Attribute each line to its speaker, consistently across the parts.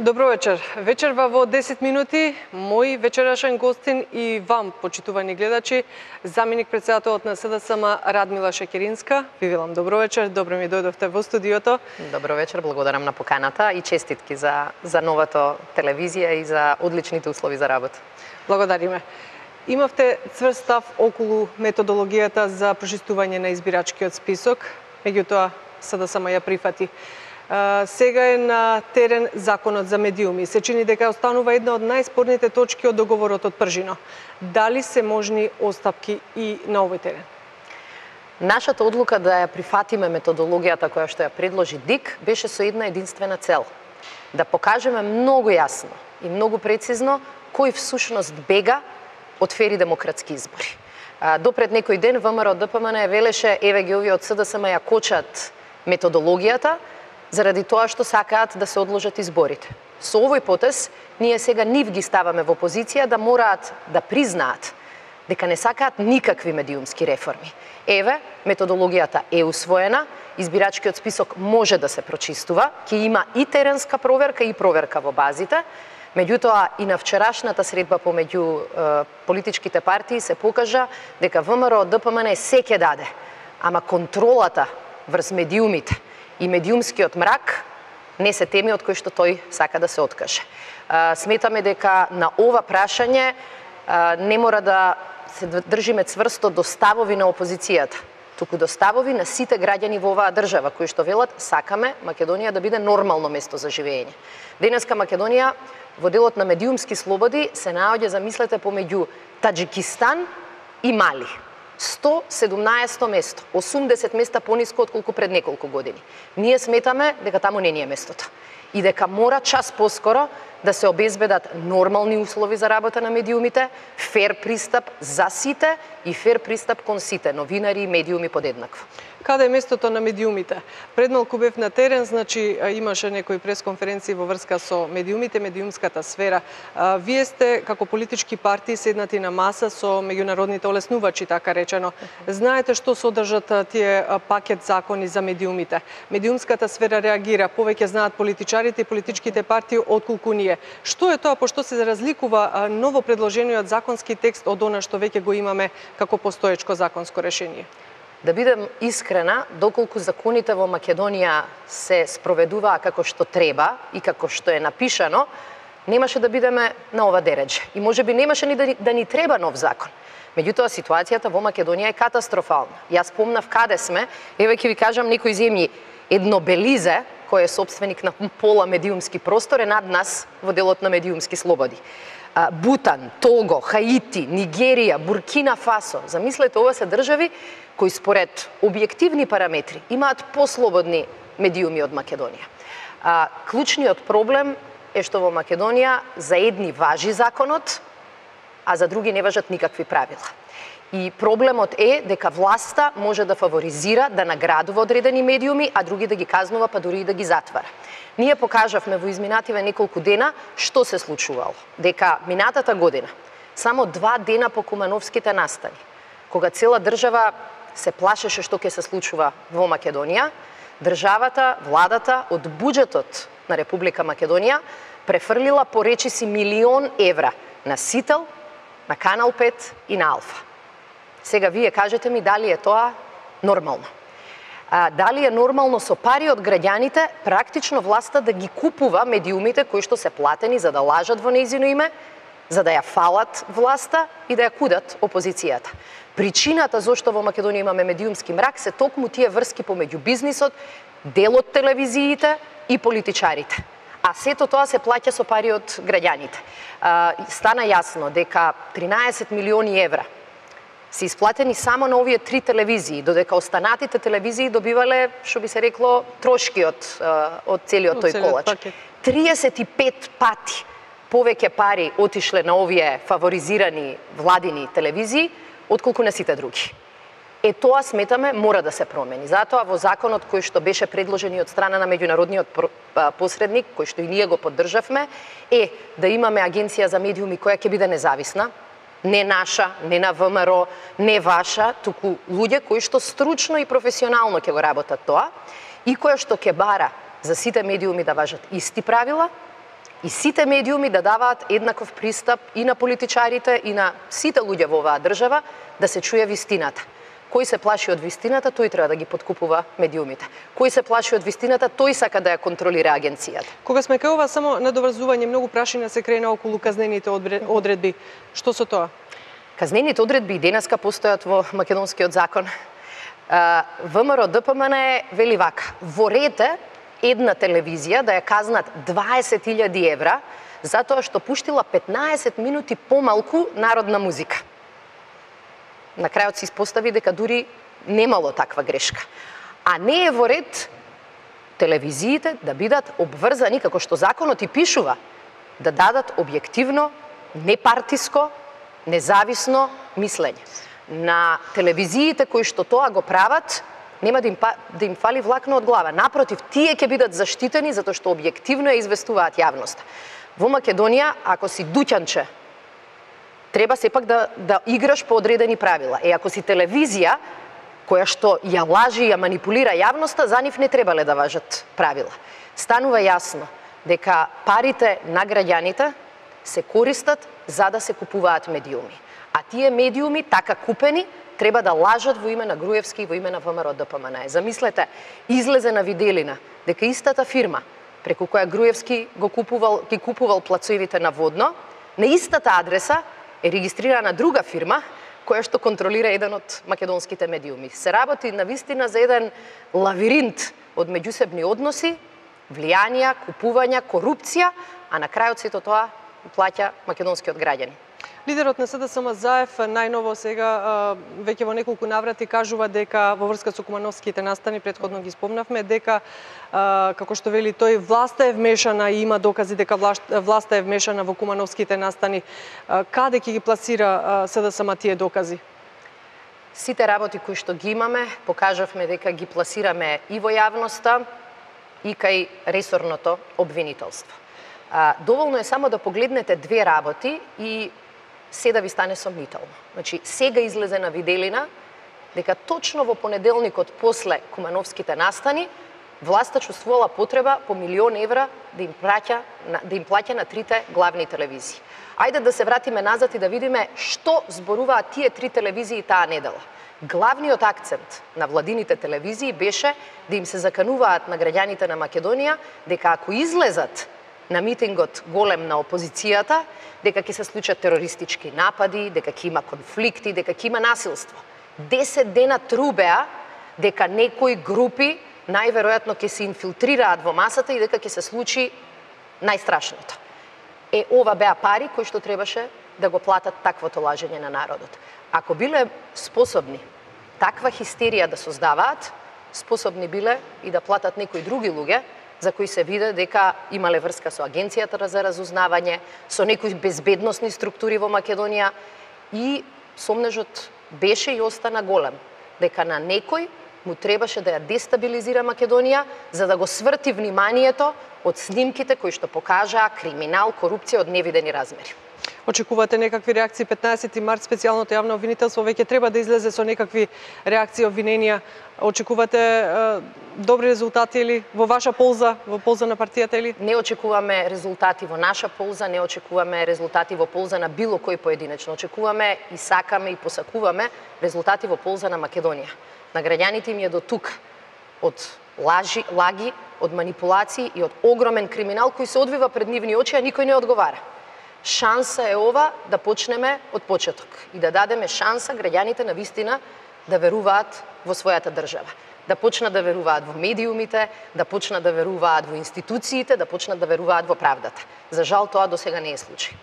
Speaker 1: Добро вечер. Вечерва во 10 минути, мој вечерашен гостин и вам, почитувани гледачи, заменик председателот на СДСМ Радмила Шекеринска. Ви велам добро вечер, добро ми дојдовте во студиото.
Speaker 2: Добро вечер, благодарам на поканата и честитки за новата телевизија и за одличните услови за работа.
Speaker 1: Благодариме. Имавте цврст став околу методологијата за прочистување на избирачкиот список, меѓутоа СДСМ ја прифати. Сега е на терен законот за медиуми. Се чини дека останува една од најспорните точки од договорот од пржино. Дали се можни остапки и на овој терен?
Speaker 2: Нашата одлука да ја прифатиме методологијата која што ја предложи ДИК беше со една единствена цел. Да покажеме многу јасно и многу прецизно кој всушност бега од фери демократски избори. Допред некој ден ВМРО ДПМН ја велеше еве ги овие од СДСМ ја кочат методологијата заради тоа што сакаат да се одложат изборите. Со овој потез ние сега нив ги ставаме во позиција да мораат да признаат дека не сакаат никакви медиумски реформи. Еве, методологијата е усвоена, избирачкиот список може да се прочистува, ќе има и теренска проверка и проверка во базите. Меѓутоа, и на вчерашната средба помеѓу политичките партии се покажа дека ВМРО ДПМН се ќе даде, ама контролата врз медиумите и медиумскиот мрак не се теми од кои што тој сака да се откаже. Сметаме дека на ова прашање не мора да се држиме цврсто до ставови на опозицијата, туку до ставови на сите граѓани во оваа држава, кои што велат сакаме Македонија да биде нормално место за живење. Денеска Македонија во делот на медиумски слободи се наоѓа, замислете, помеѓу Таџикистан и Мали. 117 место, 80 места пониско отколку пред неколку години. Ние сметаме дека таму не ни е местото и дека мора час поскоро да се обезбедат нормални услови за работа на медиумите, фер пристап за сите и фер пристап кон сите, новинари и медиуми подеднакво.
Speaker 1: Каде е местото на медиумите? Пред малку бев на терен, значи имаше некои пресконференции во врска со медиумите, медиумската сфера. Вие сте како политички партии седнати на маса со меѓународните олеснувачи, така речено. Знаете што содржат тие пакет закони за медиумите? Медиумската сфера реагира, повеќе знаат политичарите и политичките партии отколку ние. Што е тоа, пошто се разликува ново предложениот законски текст од она што веќе го имаме како постоечко законско решение?
Speaker 2: Да бидем искрена, доколку законите во Македонија се спроведуваа како што треба и како што е напишано, немаше да бидеме на ова дередже. И можеби немаше ни да ни треба нов закон. Меѓутоа, ситуацијата во Македонија е катастрофална. Јас помнав каде сме, еве ќе ви кажам некои земји. Едно Белизе, кој е собственик на пола медиумски простор, е над нас во делот на медиумски слободи. Бутан, Того, Хаити, Нигерија, Буркина Фасо. Замислете, ова се држави кои според објективни параметри имаат послободни медиуми од Македонија. Клучниот проблем е што во Македонија за едни важи законот, а за други не важат никакви правила. И проблемот е дека власта може да фаворизира, да наградува одредени медиуми, а други да ги казнува, па дури и да ги затвара. Ние покажавме во изминативе неколку дена што се случувало. Дека минатата година, само 2 дена по Кумановските настани, кога цела држава се плашеше што ќе се случува во Македонија, државата, владата од буџетот на Република Македонија префрлила по речиси 1 000 000 евра на Сител, на Канал 5 и на Алфа. Сега вие кажете ми дали е тоа нормално. Дали е нормално со пари од граѓаните практично власта да ги купува медиумите кои што се платени за да лажат во нејзино име, за да ја фалат власта и да ја кудат опозицијата. Причината зошто во Македонија имаме медиумски мрак се токму тие врски помеѓу бизнисот, дел од телевизиите и политичарите. А сето тоа се плаќа со пари од граѓаните. Стана јасно дека 13 милиони евра се исплатени само на овие 3 телевизии, додека останатите телевизии добивале, што би се рекло, трошки од целиот тој колач. 35 пати повеќе пари отишле на овие фаворизирани владини телевизии, отколку на сите други. Тоа сметаме мора да се промени. Затоа во законот кој што беше предложен од страна на меѓународниот посредник, кој што и ние го поддржавме, е да имаме агенција за медиуми која ќе биде независна, не наша, не на ВМРО, не ваша, туку луѓе кои што стручно и професионално ќе го работат тоа и која што ќе бара за сите медиуми да важат исти правила и сите медиуми да даваат еднаков пристап и на политичарите и на сите луѓе во оваа држава да се чуе вистината. Кој се плаши од вистината, тој треба да ги подкупува медиумите. Кој се плаши од вистината, тој сака да ја контролира агенцијата.
Speaker 1: Кога сме кај ова само надоврзување, многу прашања се крена околу казнените одредби. Што со тоа?
Speaker 2: Казнените одредби и денеска постојат во македонскиот закон. ВМРО ДПМН вели вака: ворете една телевизија да ја казнат 20.000 евра затоа што пуштила 15 минути помалку народна музика. На крајот се испостави дека дури немало таква грешка. А не е во ред телевизиите да бидат обврзани, како што законот и пишува, да дадат објективно, непартиско, независно мислење. На телевизиите кои што тоа го прават, нема да им фали влакно од глава. Напротив, тие ќе бидат заштитени затоа што објективно ја известуваат јавноста. Во Македонија, ако си дуќанче, треба сепак да играш по одредени правила. Ако си телевизија која што ја лажи и ја манипулира јавноста, за нив не требале да важат правила. Станува јасно дека парите на граѓаните се користат за да се купуваат медиуми. А тие медиуми, така купени, треба да лажат во име на Груевски и во име на ВМРО ДПМН. Замислете, излезе на виделина дека истата фирма преку која Груевски ги купувал плацовите на Водно, на истата адреса е регистрирана друга фирма која што контролира еден од македонските медиуми. Се работи навистина за еден лавиринт од меѓусебни односи, влијанија, купувања, корупција, а на крајот сето тоа плаќа македонскиот граѓани.
Speaker 1: Лидерот на СДСМ Заев најново сега веќе во неколку наврати кажува дека во врска со кумановските настани, претходно ги спомнавме, дека како што вели тој, власта е вмешана и има докази дека власта е вмешана во кумановските настани. Каде ќе ги пласира СДСМ тие докази?
Speaker 2: Сите работи кои што ги имаме, покажавме дека ги пласираме и во јавноста и кај ресорното обвинителство. Доволно е само да погледнете две работи и се да ви стане сомнително. Значи, сега излезе на виделина дека точно во понеделникот после кумановските настани власта чувствувала потреба по 1 милион евра да им плаќа на трите главни телевизии. Ајде да се вратиме назад и да видиме што зборуваат тие три телевизии таа недела. Главниот акцент на владините телевизии беше да им се закануваат на граѓаните на Македонија дека ако излезат на митингот голем на опозицијата, дека ќе се случат терористички напади, дека ќе има конфликти, дека ќе има насилство. 10 дена трубеа дека некои групи најверојатно ќе се инфилтрираат во масата и дека ќе се случи најстрашното. Ова беа пари кои што требаше да го платат таквото лажење на народот. Ако биле способни таква хистерија да создаваат, способни биле и да платат некои други луѓе за кои се виде дека имале врска со Агенцијата за разузнавање, со некои безбедносни структури во Македонија и сомнежот беше и остана голем, дека на некој му требаше да ја дестабилизира Македонија за да го сврти вниманието од снимките кои што покажаа криминал, корупција од невидени размери.
Speaker 1: Очекувате некакви реакции? 15 март специјалното јавно обвинителство веќе треба да излезе со некакви реакции, обвиненија. Очекувате добри резултати или во ваша полза, во полза на партијата или?
Speaker 2: Не очекуваме резултати во наша полза, не очекуваме резултати во полза на било кој поединечно. Очекуваме и сакаме и посакуваме резултати во полза на Македонија. На граѓаните им е до тук од лаги, од манипулации и од огромен криминал кој се одвива пред нивни очи, а никој не одговара. Шанса е ова да почнеме од почеток и да дадеме шанса граѓаните на вистина да веруваат во својата држава. Да почнат да веруваат во медиумите, да почнат да веруваат во институциите, да почнат да веруваат во правдата. За жал тоа до сега не е случај.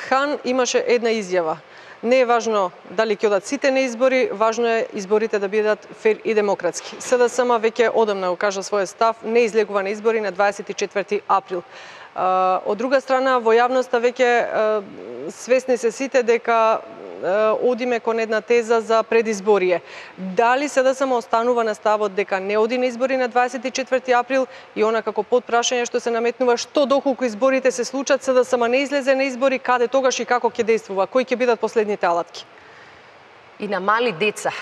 Speaker 1: Хан имаше една изјава. Не е важно дали ќе одат сите на избори, важно е изборите да бидат фер и демократски. СДСМ веќе одамна го кажа својот став, не излегува на избори на 24 април. Од друга страна, во јавноста веќе свесни се сите дека одиме кон една теза за предизборие. Дали СДСМ останува на ставот дека не оди на избори на 24 април и она како подпрашање што се наметнува, што доколку изборите се случат, СДСМ не излезе на избори, каде тогаш и како ќе действува, кои ќе бидат последните алатки?
Speaker 2: И на мали деца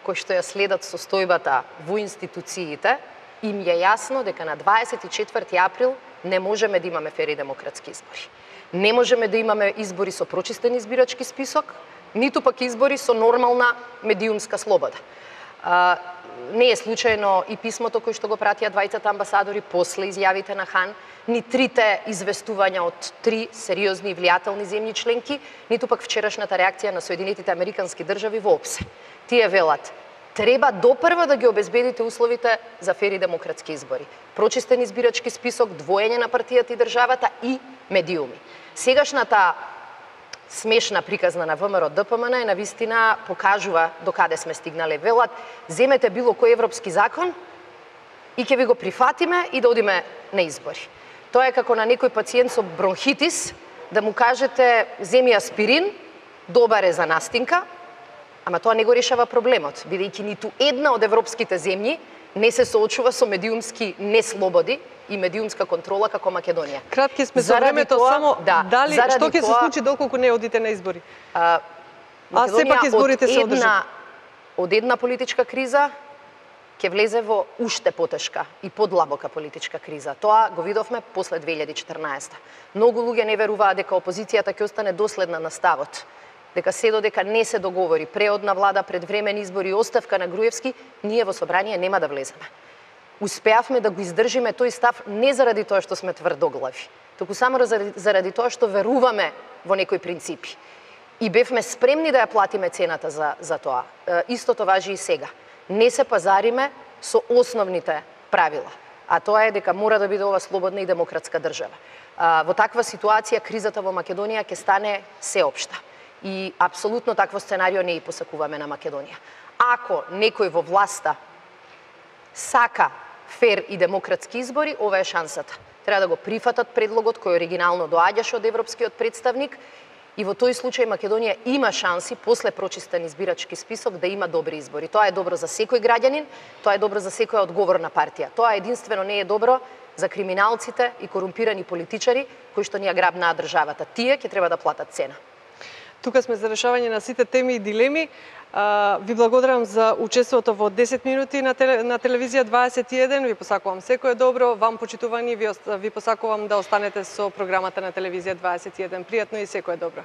Speaker 2: кои што ја следат состојбата во институциите, им е јасно дека на 24 април не можеме да имаме фери демократски избори. Не можеме да имаме избори со прочистен избирачки список, ниту пак избори со нормална медиумска слобода. Не е случајно и писмото кој што го пратија двајцата амбасадори после изјавите на Хан, ни трите известувања од 3 сериозни и влијателни земји членки, ниту пак вчерашната реакција на Соединетите Американски држави воопсе. Тие велат, треба допрво да ги обезбедите условите за фери демократски избори. Прочистен избирачки список, двоење на партијата и државата и медиуми. Сегашната смешна приказна на ВМРО ДПМН е навистина покажува до каде сме стигнале. Велат, земете било кој европски закон и ќе ви го прифатиме и да одиме на избори. Тоа е како на некој пациент со бронхитис да му кажете земи аспирин, добар е за настинка, ама тоа не го решава проблемот, бидејќи ниту една од европските земји не се соочува со медиумски неслободи и медиумска контрола како Македонија.
Speaker 1: Кратки сме со времето, само дали што ќе се случи доколку не одите на избори? Сепак изборите се одржат.
Speaker 2: Од една политичка криза ќе влезе во уште потешка и подлабока политичка криза. Тоа го видовме после 2014. Многу луѓе не веруваат дека опозицијата ќе остане доследна на ставот, дека се додека не се договори преодна влада, предвремени избори и оставка на Груевски, ние во собрание нема да влеземе. Успеавме да го издржиме тој став не заради тоа што сме тврдоглави, туку само заради тоа што веруваме во некои принципи. И бевме спремни да ја платиме цената за тоа. Истото важи и сега. Не се пазариме со основните правила, а тоа е дека мора да биде ова слободна и демократска држава. Во таква ситуација кризата во Македонија ќе стане сеопшта. И апсолутно такво сценарио не и посакуваме на Македонија. Ако некој во власта сака фер и демократски избори, ова е шансата. Треба да го прифатат предлогот кој оригинално доаѓаше од европскиот представник и во тој случај Македонија има шанси после прочистен избирачки список да има добри избори. Тоа е добро за секој граѓанин, тоа е добро за секоја одговорна партија. Тоа единствено не е добро за криминалците и корумпирани политичари кои што ни ја грабнаа државата. Тие ќе треба да платат цена.
Speaker 1: Тука сме за решавање на сите теми и дилеми. Ви благодарам за учеството во 10 минути на телевизија 21. Ви посакувам секое добро. Вам почитувани ви посакувам да останете со програмата на телевизија 21. Пријатно и секое добро.